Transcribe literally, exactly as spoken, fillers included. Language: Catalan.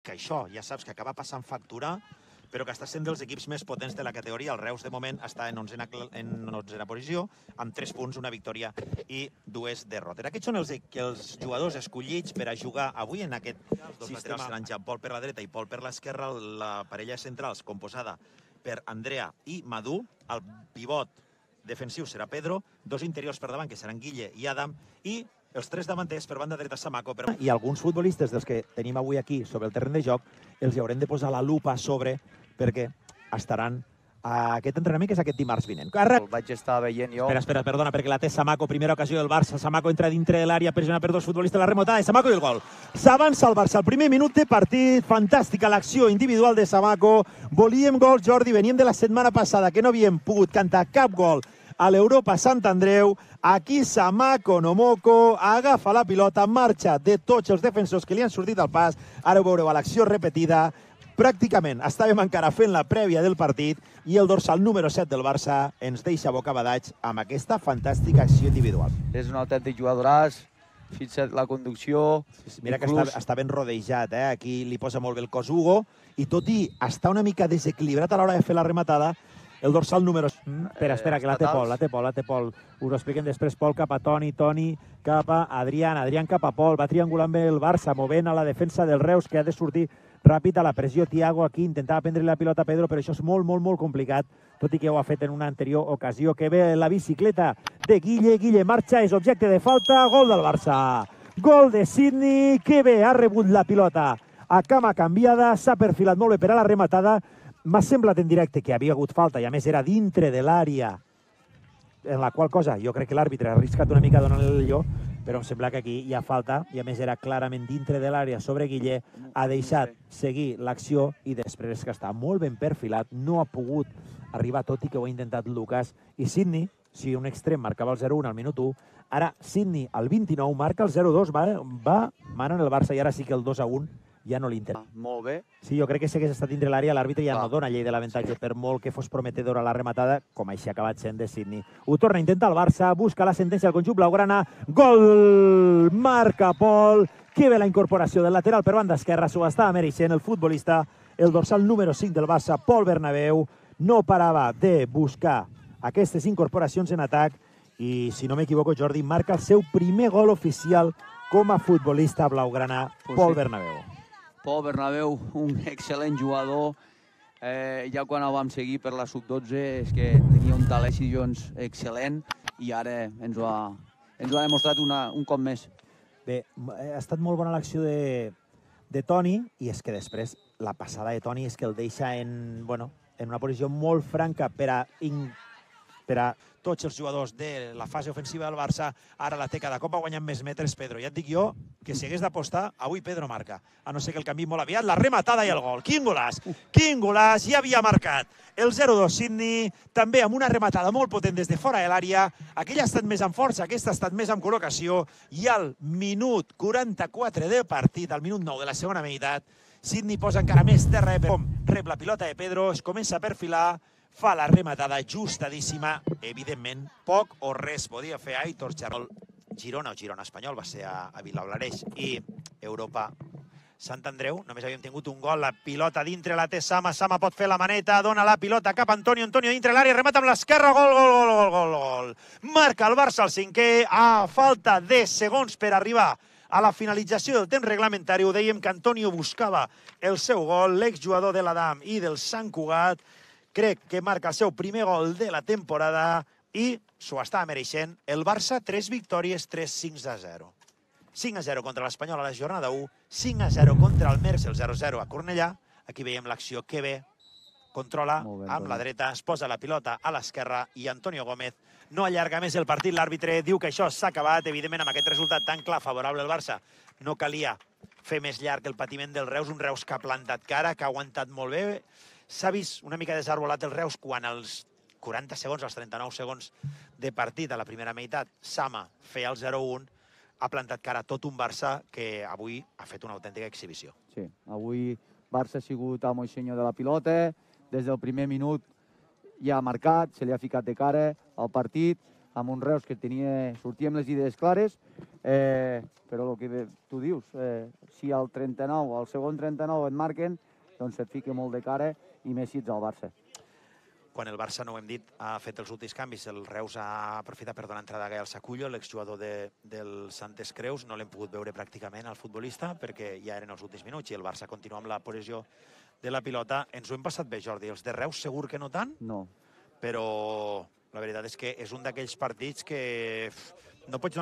que això ja saps que acaba passant factura, però que està sent dels equips més potents de la categoria. El Reus, de moment, està en onzena, en onzena posició, amb tres punts, una victòria i dues derrotes. Aquests són els, els jugadors escollits per a jugar avui en aquest dos sistema. Laterals seran Jean Paul per la dreta i Paul per l'esquerra, la parella centrals composada per Andrea i Madú, el pivot defensiu serà Pedro, dos interiors per davant, que seran Guille i Adam, i els tres davanters per banda dreta Samaco. Per... I alguns futbolistes dels que tenim avui aquí sobre el terreny de joc, els hi haurem de posar la lupa a sobre perquè estaran a aquest entrenament, que és aquest dimarts vinent. El vaig estar veient jo. Espera, espera, perdona, perquè la té Samaco, primera ocasió del Barça. Samaco entra dintre de l'àrea, pressionat per dos futbolistes, la remotada de Samaco i el gol. S'avança el Barça, el primer minut de partit, fantàstica l'acció individual de Samaco. Volíem gols, Jordi, veníem de la setmana passada que no havíem pogut cantar cap gol a l'Europa Sant Andreu. Aquí Samaco Nomoko agafa la pilota, marxa de tots els defensors que li han sortit al pas. Ara ho veureu a l'acció repetida. Pràcticament estàvem encara fent la prèvia del partit i el dorsal número set del Barça ens deixa bocabadats amb aquesta fantàstica acció individual. És un autèntic jugadoràs, fins a la conducció... Mira que està, està ben rodejat, eh? Aquí li posa molt bé el cos Hugo, i tot i estar una mica desequilibrat a l'hora de fer la rematada, el dorsal número... Mm, espera, espera, que la té Pol, la té Pol, la té Pol. Us ho expliquen després, Pol cap a Toni, Toni cap a Adrián, Adrián cap a Pol, va triangulant bé el Barça, movent a la defensa del Reus, que ha de sortir ràpid a la pressió. Thiago aquí intentava prendre la pilota a Pedro, però això és molt, molt, molt complicat, tot i que ho ha fet en una anterior ocasió. Que ve la bicicleta de Guille, Guille marxa, és objecte de falta, gol del Barça. Gol de Sidney, que bé, ha rebut la pilota a cama canviada, s'ha perfilat molt bé per a la rematada. M'ha semblat en directe que havia hagut falta i a més era dintre de l'àrea, en la qual cosa jo crec que l'àrbitre ha arriscat una mica donant-li el lloc, però em sembla que aquí hi ha falta i a més era clarament dintre de l'àrea sobre Guille. Ha deixat seguir l'acció i després que està molt ben perfilat, no ha pogut arribar, tot i que ho ha intentat Lucas. I Sidney, si un extrem marcava el zero un al minut u, ara Sidney al vint-i-nou marca el zero dos, va, va mana en el Barça i ara sí que el dos a un ja no li interessa. Molt bé. Sí, jo crec que si hagués estat dintre l'àrea, l'àrbitre ja no dona llei de l'avantatge, per molt que fos prometedora la rematada, com així ha acabat sent de Sidney. Ho torna a intentar el Barça, busca la sentència del conjunt blaugrana, gol! Marca Pol, que bé la incorporació del lateral per banda esquerra, s'ho estava mereixent el futbolista, el dorsal número cinc del Barça, Pol Bernabéu, no parava de buscar aquestes incorporacions en atac i, si no m'equivoco, Jordi, marca el seu primer gol oficial com a futbolista blaugrana, Pol Bernabéu. Pol Bernabéu, un excel·lent jugador. Eh, ja quan el vam seguir per la sub dotze és que tenia un talent doncs, excel·lent i ara ens ho ha, ens ho ha demostrat una, un cop més. Bé, ha estat molt bona l'acció de, de Toni i és que després la passada de Toni és que el deixa en, bueno, en una posició molt franca per a, in, per a tots els jugadors de la fase ofensiva del Barça. Ara la té cada cop ha guanyat més metres Pedro. Ja et dic jo que si hagués d'apostar, avui Pedro marca. A no ser que el canvi molt aviat, la rematada i el gol. Quin golàs! Quin golàs! Ja havia marcat el zero dos Sidney, també amb una rematada molt potent des de fora de l'àrea. Aquella ha estat més amb força, aquesta ha estat més amb col·locació. I al minut quaranta-quatre del partit, al minut nou de la segona meitat, Sidney posa encara més terra. Rep la pilota de Pedro, es comença a perfilar, fa la rematada ajustadíssima. Evidentment, poc o res podia fer Aitor Charol. Girona o Girona Espanyol va ser a, a Vilablareix i Europa Sant Andreu. Només havíem tingut un gol, la pilota dintre la té Sama, Sama pot fer la maneta, dona la pilota cap a Antonio, Antonio dintre l'àrea, remata amb l'esquerra, gol, gol, gol, gol, gol, gol. Marca el Barça el cinquè, a falta de segons per arribar a la finalització del temps reglamentari. Ho dèiem que Antonio buscava el seu gol, l'exjugador de l'Adam i del Sant Cugat. Crec que marca el seu primer gol de la temporada i s'ho està mereixent. El Barça, tres victòries, tres cinc a zero. cinc a zero contra l'Espanyol a la jornada u, cinc a zero contra el Merce, el zero zero a Cornellà. Aquí veiem l'acció que bé, controla amb la dreta, es posa la pilota a l'esquerra i Antonio Gómez no allarga més el partit. L'àrbitre diu que això s'ha acabat. Evidentment, amb aquest resultat tan clar favorable al Barça, no calia fer més llarg el patiment del Reus, un Reus que ha plantat cara, que ha aguantat molt bé. S'ha vist una mica desarbolat el Reus quan als quaranta segons, als trenta-nou segons de partit a la primera meitat, Sama feia el zero un, ha plantat cara tot un Barça que avui ha fet una autèntica exhibició. Sí, avui Barça ha sigut amo i senyor de la pilota, des del primer minut ja ha marcat, se li ha ficat de cara al partit, amb un Reus que tenia, sortia amb les idees clares, eh, però el que tu dius, eh, si al trenta-nou, al segon trenta-nou et marquen, doncs et fica molt de cara i més si ets al Barça. Quan el Barça, no ho hem dit, ha fet els últims canvis, el Reus ha aprofitat per donar entrada a Gael Sacullo, l'exjugador de, del Santes Creus. No l'hem pogut veure pràcticament al futbolista perquè ja eren els últims minuts i el Barça continua amb la possessió de la pilota. Ens ho hem passat bé, Jordi. Els de Reus segur que no tant, No. però la veritat és que és un d'aquells partits que no pots donar